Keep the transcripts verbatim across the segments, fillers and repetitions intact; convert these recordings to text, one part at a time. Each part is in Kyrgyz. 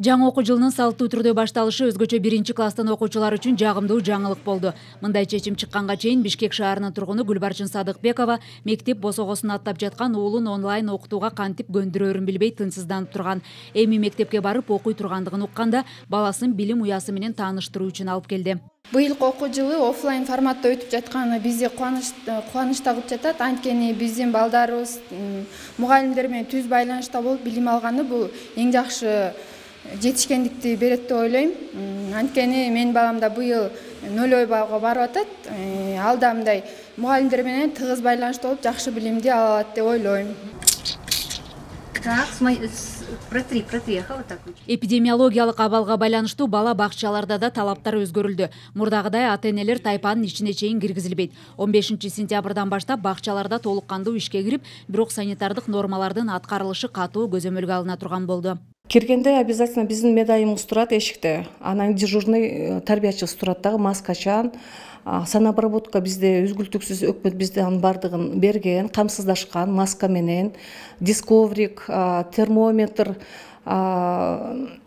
Жаңы окуу жылынын салттуу түрдө башталышы өзгөчө биринчи класстын окуучулары үчүн жагымдуу жаңылык болду. Мындай чечим чыкканга чейин Бишкек шаарынын тургуну Гүлбарчын Садыкбекова мектеп босогосун аттап жаткан уулун онлайн окутууга кантип көндүрөрүн билбей тынчсызданып турган. Эми мектепке барып окуй тургандыгын укканда баласын билим уясы менен тааныштыруу үчүн алып келди. Быйылкы окуу жылы оффлайн форматта өтүп жатканы бизди кубанычта кылып жатат. Анткени биздин балдарыбыз мугалимдер менен түз байланышта болуп билим алганы бул эң жакшы жетишкендикти берет деп ойлойм. Анткени менин балам да быйыл нөлөй баллга барып атат. Ал да мындай мугалимдер менен тыгыз байланышта болуп жакшы билимди ала алат деп ойлойм. Так, протри, протри, вот так. Эпидемиологиялык абалга байланыштуу бала бакчаларда да талаптар өзгөрүлдү. Мурдагыдай ата-энелер тайпанын ичине чейин киргизилбейт. он бешинчи сентябрдан баштап бакчаларда толук кандуу ишке кирип, бирок санитардык нормалардын аткарылышы катуу көзөмөлгө алына турган болду. Киргенде обязательно биздин медайымыз турат эшикте. Анан дежурный тарбиячыбыз турат дагы маскачан. Санобработка бизде үзгүлтүксүз өкмөт бизде анын бардыгын берген, камсыздашкан маска менен, дисковрик, термометр,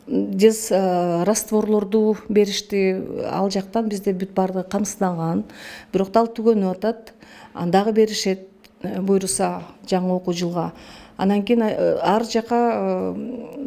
дез растворлорду беришти. Ал жактан бизде бүт бардыгы камсызданган. Бирок дал түгөнүп атат. Андагы беришет буйруса жаңы окуу жылга. Анан кийин ар жака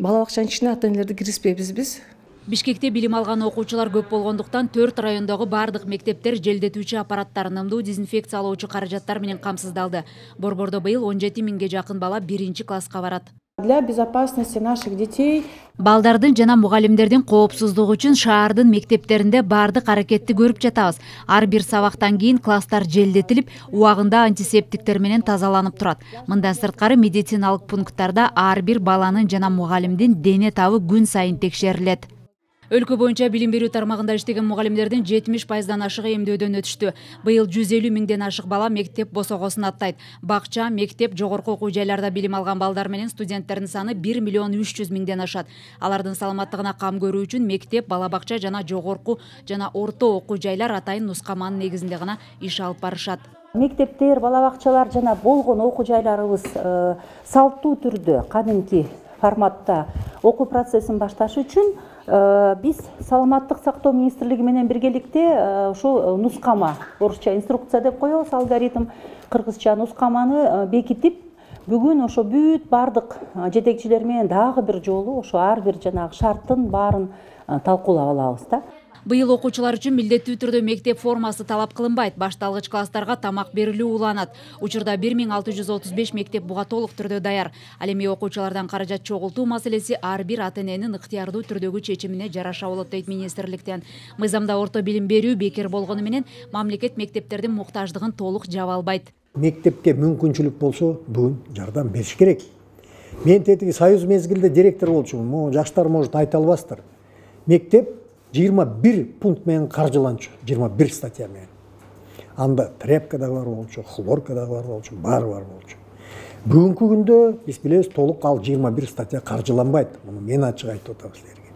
бала бакчанын ичине ата-энелерди киргизбейбиз биз. Бишкекте билим алган окуучулар көп болгондуктан төрт райондогу бардык мектептер желдетүүчү аппараттар, нымдуу дезинфекциялоочу каражаттар менен камсыздалды. Борбордо быйыл он жети миңге жакын бала биринчи класска барат. Для безопасности наших детей балдардын жана мугалимдердин коопсуздугу үчүн шаардын мектептеринде бардык аракетти көрүп жатабыз. Ар бир сабактан кийин класстар желдетилип, убагында антисептиктер менен тазаланып турат. Мындан сырткары медициналык пункттарда ар бир баланын жана мугалимдин дене табы күн сайын текшерилет. Өлкө боюнча билим берүү тармагында иштеген мугалимдердин жетимиш пайыздан ашыгы эмдөөдөн өтүштү. Быйыл жүз элүү миңден ашык бала мектеп босогосун аттайт. Бакча, мектеп, жогорку окуу жайларда билим алган балдар менен студенттердин саны бир миллион үч жүз миңден ашат. Алардын саламаттыгына кам көрүү үчүн мектеп, бала бакча жана жогорку жана орто окуу жайлар атайын нускаманын негизинде гана иш алып барышат. Мектептер, бала бакчалар жана болгон окуу жайларыбыз салттуу түрдө кадимки форматта окуу процессин башташ үчүн биз саламаттык сактоо министрлиги менен биргеликте ушул нускама, орусча инструкция деп коебуз, алгоритм, кыргызча нускаманы бекитип, бүгүн ошо бүт бардык жетекчилер менен дагы бир жолу ошо ар бир жанагы шарттын баарын талкуулап алабыз да. Быйыл окуучулар үчүн милдеттүү түрдө мектеп формасы талап кылынбайт. Башталгыч класстарга тамак берилүү уланат. Учурда бир миң алты жүз отуз беш мектеп буга толук түрдө даяр. Ал эми окуучулардан каражат чогултуу маселеси ар бир ата-эненин ыктыярдуу түрдөгү чечимине жараша болот дейт министрликтен. Мыйзамда орто билим берүү бекер болгону менен мамлекет мектептердин муктаждыгын толук жаба албайт. Мектепке мүмкүнчүлүк болсо бүгүн жардам бериш керек. Мен тетиги союз мезгилде директор болчумун. Могу жаштар может айта албастыр. Мектеп жыйырма бир пункт менен каржыланчу, жыйырма бир статья менен. Анда тряпка да бар болчу, хлорка да бар болчу, баары бар болчу. Бүгүнкү күндө биз билебиз толук ал жыйырма бир статья каржыланбайт. Муну мен ачык айтып атам силерге.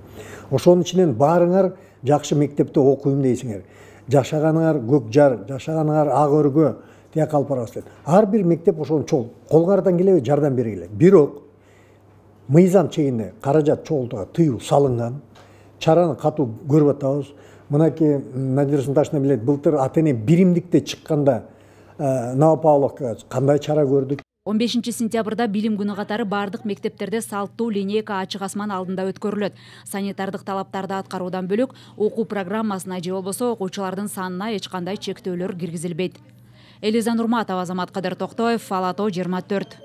Ошонун ичинен баарыңар жакшы мектепте окуйм дейсиңер. Жашаганыңар көк жар, жашаганыңар ак өргө, тияк алып барасыздар. Ар бир мектеп ошону чогул колгардан келеби жардам бергиле. Бирок мыйзам чегинде каражат чогултууга тыюу салынган. Чараны катуу көрүп атабыз. Мынакей Надежда Сунташевна билет, былтыр ата-эне биримдикте чыкканда Новопавловкага кандай чара көрдүк. он бешинчи сентябрда билим күнү катары бардык мектептерде салттуу линейка ачык асман алдында өткөрүлөт. Санитардык талаптарды аткаруудан бөлөк окуу программасына же болбосо окуучулардын санына эч кандай чектөөлөр киргизилбейт. Элиза Нурматова, Азамат Кадыр Токтоев, Ала тоо жыйырма төрт.